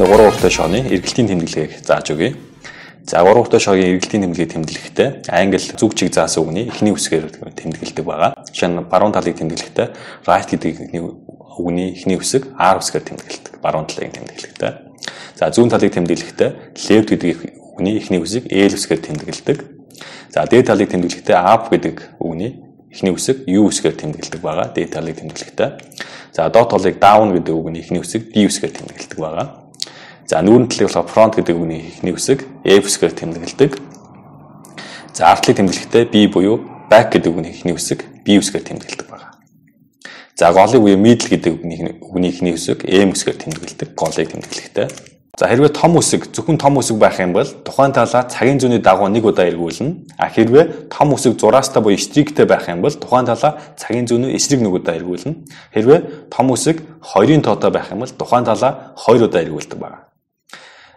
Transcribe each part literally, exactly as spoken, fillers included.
гурван уртаа шооны эргэлтийн тэмдэглэгийг зааж өгье. За гурван уртаа шоогийн эргэлтийн тэмдэглэгийг тэмдэглэхдээ англи зүг чиг заасан үгний эхний үсгээр тэмдэглэдэг байгаа. Жишээ нь баруун талыг тэмдэглэхдээ right гэдэг үгний эхний үсэг R үсгээр тэмдэглэдэг. Баруун талыг тэмдэглэхдээ. За зүүн талыг тэмдэглэхдээ left гэдэг үгний эхний үсэг L үсгээр тэмдэглэдэг. За дээд талыг тэмдэглэхдээ up гэдэг үгний эхний үсэг U үсгээр тэмдэглэдэг байгаа. Дээд талыг тэмдэглэхдээ. За доод талыг down гэдэг үгний эхний үсэг D үсгээр тэмдэглэдэг байгаа. За нүүрэн талыг болохоор front гэдэг үгний эхний үсэг F үсгээр тэмдэглэдэг. За арт талыг тэмдэглэхдээ B буюу back гэдэг үгний эхний үсэг B үсгээр тэмдэглэдэг байгаа. За голыг буюу middle гэдэг үгний үгний эхний үсэг M үсгээр тэмдэглэдэг. Голыг тэмдэглэхдээ. За хэрвээ том үсэг зөвхөн том үсэг байх юм бол тухайн талаа цагийн зүүнний дагуу нэг удаа эргүүлнэ. А хэрвээ том үсэг зураастай буюу стриктэй байх юм бол тухайн талаа цагийн зүүнөө эсрэг нэг удаа эргүүлнэ. Хэрвээ том үсэг хоёрын тоотой байх юм бол тухайн талаа хоёр удаа эргүүлдэг байна.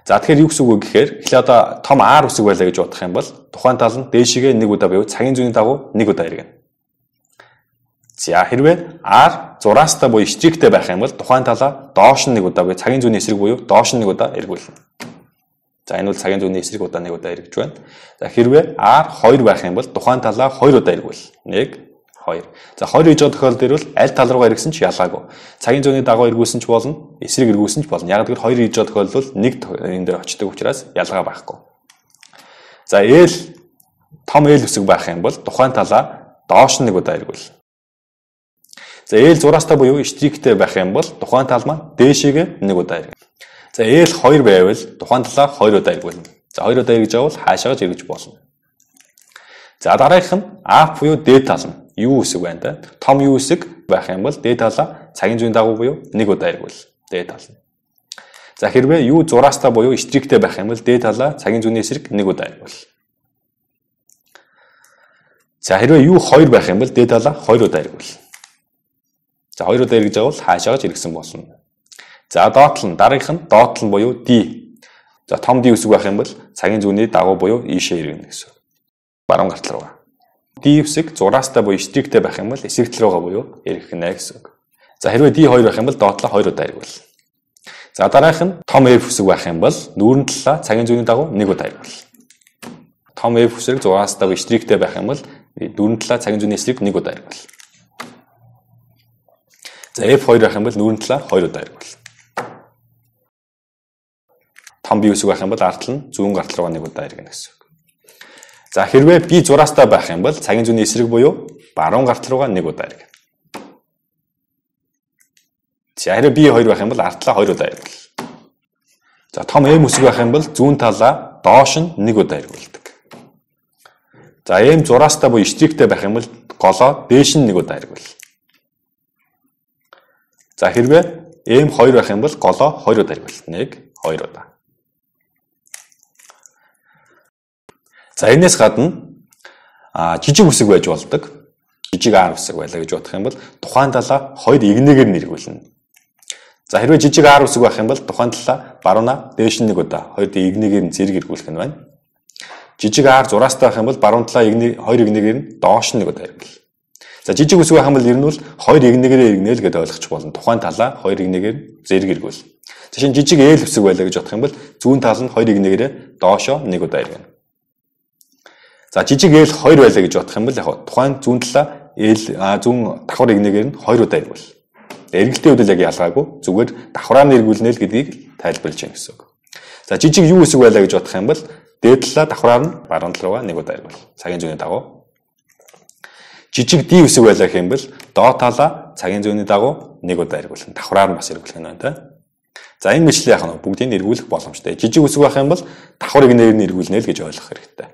За тэгэхээр юу гэсэн үг вэ гэхээр эхлээ одоо том R үсэг байлаа гэж бодох юм бол тухайн тал нь дээшигээ нэг удаа буюу цагийн зүүнний дагуу нэг удаа эргэнэ. За хэрвээ R зураастай буюу стриктэй байх юм бол тухайн талаа доош нь нэг удаа буюу цагийн зүүнний эсрэг буюу доош нь нэг удаа эргүүлнэ. За энэ бол цагийн зүүнний эсрэг удаа нэг удаа эргэж байна. За хэрвээ R хоёр байх юм бол тухайн талаа хоёр удаа эргүүл. нэг, хоёр. За хоёр гэж байгаа тохиолдол дээр бол аль тал руугаа эргэсэн ч ялгаагүй. Цагийн зүүнний дагуу эргүүлсэн ч болно, эсрэг эргүүлсэн ч болно. Яг гэвэл хоёр гэж байгаа тохиолдол нэг энэ дээр очдог учраас ялгаа байхгүй. За L том L үсэг байх юм бол тухайн талаа доош нь нэг удаа эргүүл. За L зураастай буюу стриктэй байх юм бол тухайн тал маань дээшээгээ нэг удаа эргэнэ. За L хоёр байвал тухайн талаа хоёр удаа эргүүлнэ. За хоёр удаа эргэж авал хаашаа эргэж болно. За дараагийнх нь up буюу дээд тал нь U үсэг байна та. Том U үсэг байх юм бол дээд талаа цагийн зүүнний дагуу буюу нэг удаа эргүүл. Дээд тал нь. За хэрвээ U зураастай буюу стриктэй байх юм бол дээд талаа цагийн зүүнний эсрэг нэг удаа эргүүл. За хэрвээ U хоёр байх юм бол дээд талаа хоёр удаа эргүүл. За хоёр удаа эргэж авал хаашаа эргэсэн болно. За доотлол нь дараагийнх нь доотлол буюу D. За том D үсэг байх юм бол цагийн зүүнний дагуу буюу ийшээ эргэнэ гэсэн. Баруун гартал руугаа. D үсэг зураастай буюу стриктэй байх юм бол эсрэг тал руугаа буюу эргэнэ гэсэн. За хэрвээ D хоёр байх юм бол доотлоо хоёр удаа эргүүл. За дараагийнх нь том F үсэг байх юм бол нүүрэн талаа цагийн зүүнний дагуу нэг удаа эргүүл. Том F үсэг зураастай буюу стриктэй байх юм бол нүүрэн талаа цагийн зүүнний эсрэг нэг удаа эргүүл. За F хоёр байх юм бол нүүрэн талаа хоёр удаа эргүүл. Том B үсэг байх юм бол арт нь зүүн гартал руугаа нэг удаа эргэнэ гэсэн үг. За хэрвээ B зураастай байх юм бол цагийн зүүнний эсрэг буюу баруун гартал руугаа нэг удаа эргэнэ. За хэрвээ B хоёр байх юм бол арт талаа хоёр удаа эргүүл. За том M үсэг байх юм бол зүүн талаа доош нь нэг удаа эргүүлдэг. За M зураастай буюу стриктэй байх юм бол голоо дээш нь нэг удаа эргүүл. За хэрвээ M хоёр байх юм бол голоо хоёр удаа эргүүл. нэг, хоёр удаа. За энэс гадна а жижиг үсэг байж болдог. Жижиг R үсэг байлаа гэж бодох юм бол тухайн талаа хоёр игнэгээр нь эргүүлнэ. За хэрвээ жижиг R үсэг байх юм бол тухайн талаа баруунаа дээш нь нэг удаа хоёр игнэгээр нь зэрэг эргүүлэх нь байна. Жижиг R зураастай байх юм бол баруун талаа игнэ хоёр игнэгээр нь доош нь нэг удаа эргүүл. За жижиг үсэг байх юм бол ер нь бол хоёр игнэгээр эргэнэ л гэдээ ойлгочих болно. Тухайн талаа хоёр игнэгээр зэрэг эргүүл. Жишээ нь жижиг L үсэг байлаа гэж бодох юм бол зүүн тал нь хоёр игнэгээр доошоо нэг удаа эргэнэ. За жижиг L хоёр байлаа гэж бодох юм бол яг тухайн зүүн талаа L зүүн давхар игнэгээр нь хоёр удаа эргүүл. Эргэлтийн үед л яг ялгаагүй зүгээр давхраа нь эргүүлнэ л гэдгийг тайлбарлаж байна гэсэн үг. За жижиг U үсэг байлаа гэж бодох юм бол дээд талаа давхраар нь баруун тал руугаа нэг удаа эргүүл. Цагийн зүүнний дагуу. Жижиг D үсэг байлаа гэх юм бол доод талаа цагийн зүүнний дагуу нэг удаа эргүүлнэ. Давхраар нь бас эргүүлэх нь байна та. За энэ мэтлээ яг нь бүгдийг эргүүлэх боломжтой. Жижиг үсэг байх юм бол давхар игнэгээр нь эргүүлнэ л гэж ойлгох хэрэгтэй.